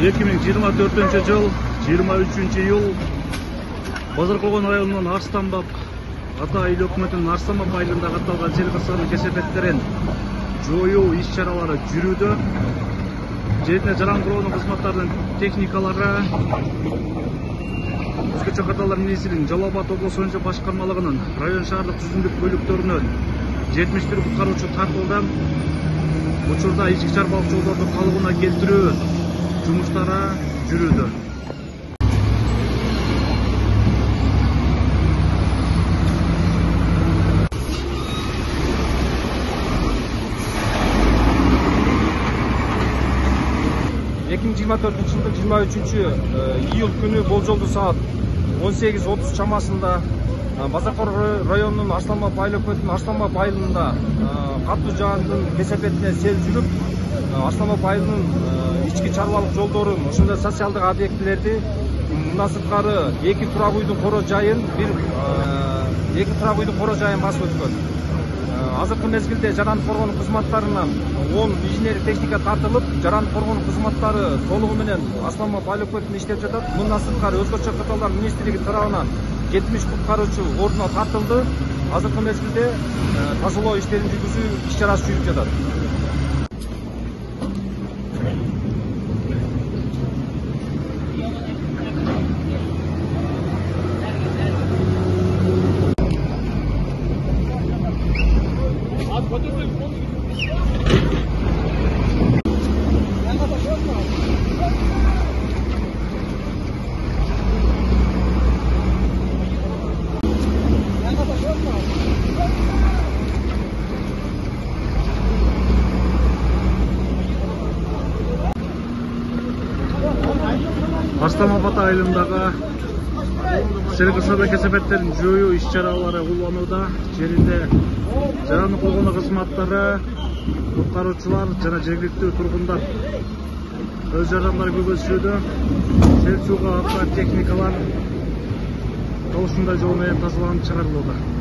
2024-жыл 23-июл Базаркулгон районунун Арстанбап ата эл өкмөтүнүн Арстанбап айылында катталган жер кырсыгынын кесепеттерин жоюу иш-чаралары жүрүүдө. Жерине жаран куроонун кызматтарынын техникалары Өзгөчө катталган министрдин Жалал Абад облус боюнча башкармалыгынын район шаардык түзүмдүк бөлүктөрүнөн 71 куткаруучу тартылды. Учурда ички чарбалык жолдорду калыбына келтирүү жумуштары жүрүүдө. жылдын 23 күнү болжолдуу саат 18:30 чамасында Базаркулгон районунун Арстанбап айыл өкмөтүнүн Арстанбап айылында катуу жаандын кесепетине сел жүрүп, Арстанбап айылынын ички чарбалык жолдорун, ошондой социалдык объектилерди, мындан сырткары эки турак үйдүн коро жайын басып өткөн. Азыркы мезгилде жарандык коргоонун кызматтарынан 10 инженер техника тартылып, жарандык коргоонун кызматтары толугу менен Арстанбап айыл өкмөтүндө иштеп жатат. Мындан сырткары Өзгөчө катталган министрлиги тарабынан 70 куткаруучу ордуна тартылды. Азыркы мезгилде тазалоо иштерин жүргүзүү иш-чарасы жүрүп жатат. Арстанбап айылындагы жер кырсыгы кесепеттерин жоюу иш-чаралары уланууда. Жеринде жарандык коргоонун кызматтары, куткаруучулар жана жергиликтүү тургундар өз жардамдарын көрсөтүүдө. Сел сууга ата техникалар ушундай жол менен тазаланып чыгарылууда.